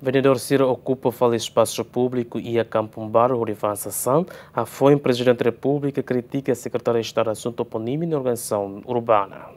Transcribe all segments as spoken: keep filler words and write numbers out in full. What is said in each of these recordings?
Vendedór sira okupa fali espasu públiku iha Kampung Baru hodi fa'an sasán, hafoin Prezidente Repúblika kritika Sekretáriu Estadu Asuntu Toponímia no Organizasaun Urbana.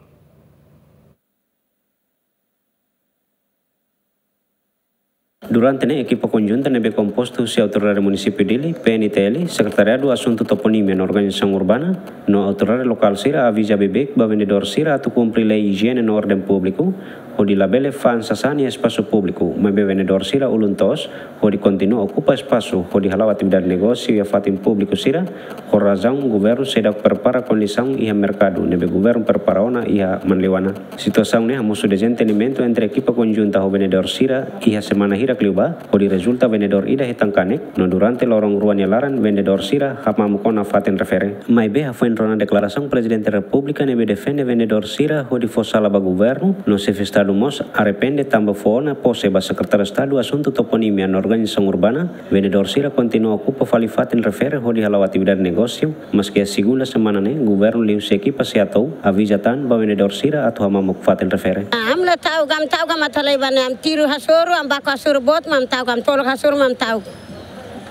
Durante ne'e, ekipa konjunta ne'ebé kompostu husi Autoridade Munisípiu Dili, P N T L, Sekretariadu Asuntu Toponímia no Organizasaun Urbana, no autoridade lokál sira aviza beibeik ba vendedór sira atu kumpre lei ijiene no orden públiku, hodi labele fa'an sasán iha espasu públiku, maibé vendedór sira ulun toos hodi kontinua okupa espasu hodi hala'o atividade negósiu iha fatin públiku sira, ho razaun governu seidauk prepara kondisaun iha merkadu ne'ebé governu prepara ona iha Manleuana. Situasaun ne'e hamosu dezentendimentu entre ekipa konjunta ho vendedór sira iha semana hirak liubá, hodi rezulta vendedór ida hetan kanek, no durante loron rua nia laran vendedór sira hamamuk ona fatin refere. Maibé hafoin rona deklarasaun Prezidente Repúblika ne'ebé defende vendedór sira hodi fó sala ba governu, no Xefe Estadu mós arrepende tanba fó ona pose ba Sekretáriu Estadu Asuntu Toponímia no Organizasaun Urbana, vendedór sira kontinua okupa fali fatin refere hodi hala'o atividade negósiu, maske iha segunda semana ne'e, governu liuhusi ekipa SEATOU aviza tan ba vendedór sira atu hamamuk fatin refere. Ah, ami la ta'uk, ami ta'uk, ami atu halai ba ne'e, ami tiru hasoru, ami baku hasoru boot, ami ta'uk, ami tolok hasoru, ami ta'uk.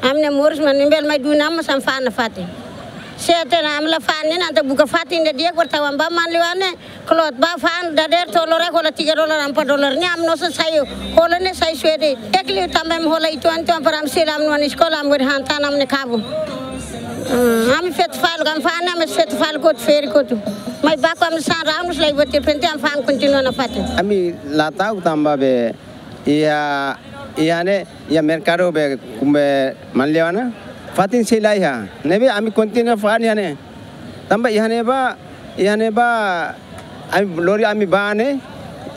Ami ne'e moris, ami bele mai duni ami mós ami fa'an nafatin. Se ita ne'e ami la fa'an ne'e, entaun buka fatin ida di'ak, bertawan ba Manleuana, klot ba fa'an dadeer tolu real, hola tiga dolar, empat dolar ne'e, ami nusá sai, hola ne'e sai suede. Ekli tanba ami hola itu antu, ami para ami sila, ami nia eskola, ami beri han tan ami-nia kabun. Hmm, ami feto fali, ami fa'an ne'e, ami feto fali kotu, ferik kotu. Mai baku ami sasán rau, nusá lai buat repente, ami fa'an kontinua nafatin. Ami la ta'uk tanba be, iha, iha ne'e, iha merkadu be, kumbe Manleuana, fatin sei la iha. Ne'ebé ami kontinua fa'an iha ne'e. Tanba iha ne'ebá, iha ne'ebá, ami lori ami bá ne'e,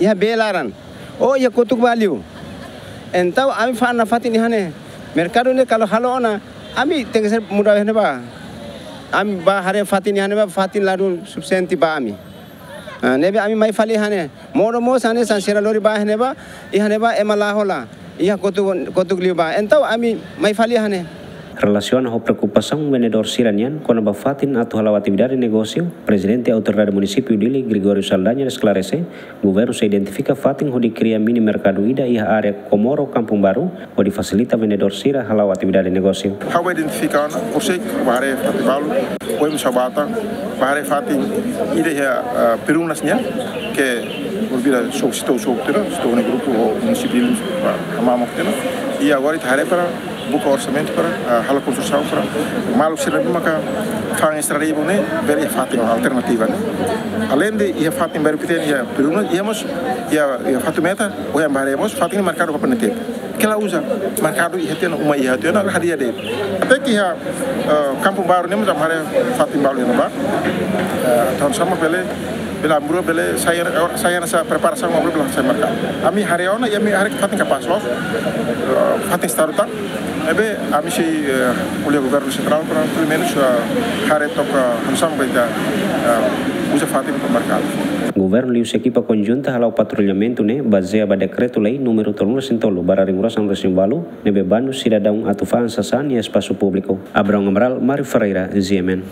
iha bee laran. Oh, iha kotuk ba liu. Entaun ami fa'an nafatin iha ne'e. Merkadu ne'e kalau halo ona, ami tenke ser muda iha ne'ebá. Ami bá haree fatin iha ne'ebá, fatin ladún sufisiente ba ami. Ah, ne'ebé ami mai fali iha ne'e. Modo mós hanesan sira lori ba iha ne'ebá, iha ne'ebá ema la hola. Iha kotuk, kotuk liubá. Entaun ami mai fali iha ne'e. Relasiona ho preokupasaun vendedór sira-nian kona-ba fatin atu hala'o atividade negósiu, Prezidente Autoridade Munisípiu Dili, Gregório Saldanha, esklarese, governu sei identifika fatin hodi kria mini merkadu ida iha área Comoro Kampung Baru, hodi fasilita vendedór sira hala'o atividade negósiu. Ha'u identifika ona, horiseik bá haree fatin balu, ohin mós ha'u bá tan, bá haree fatin ida iha, ah, Perunas nian, ke volvida so, estou so, tira, estou no grupu ho munisípiu, ah, hamamuk tira. I agora ita haree para buka orsamentu para, ah, halo konstrusaun para maluk sira ne'ebé maka fa'an estrada ibun ne'e, bele iha fatin alternativa ne'e. Aleinde iha fatin baru kita iha Perunas, iha mós, iha, iha Fatumeta, ohin bá haree mós, fatin merkadu ba penetep. Ke la uza, merkadu iha tiha ona, uma iha tiha ona, la hadi'a de'it. Até ke iha, eh, Kampung Baru ne'e mós ami haree fatin balu iha ne'ebá. Eh, entaun hanesan bele, bele amburu, bele sai, sai hanesan preparasaun, amburu bele sai merkadu. Ami haree ona, i ami haree fatin kapás loos. Eh, fatin estadu tan. Ne'ebé ami sei, eh, ko'alia ho governu sentrál para, pelumenus, eh, haree took hanesan bele, eh, uza fatin ba merkadu. Governu liuhusi ekipa konjunta hala'o patrullamentu ne'e bazeia ba dekretu-lei númeru tolunulu-resin-tolu barra rihun ruasaan-resin-ualu, ne'ebé banu sidadaun atu fa'an sasán iha espasu públiku. Abraão Amaral, Mário Ferreira, G M N.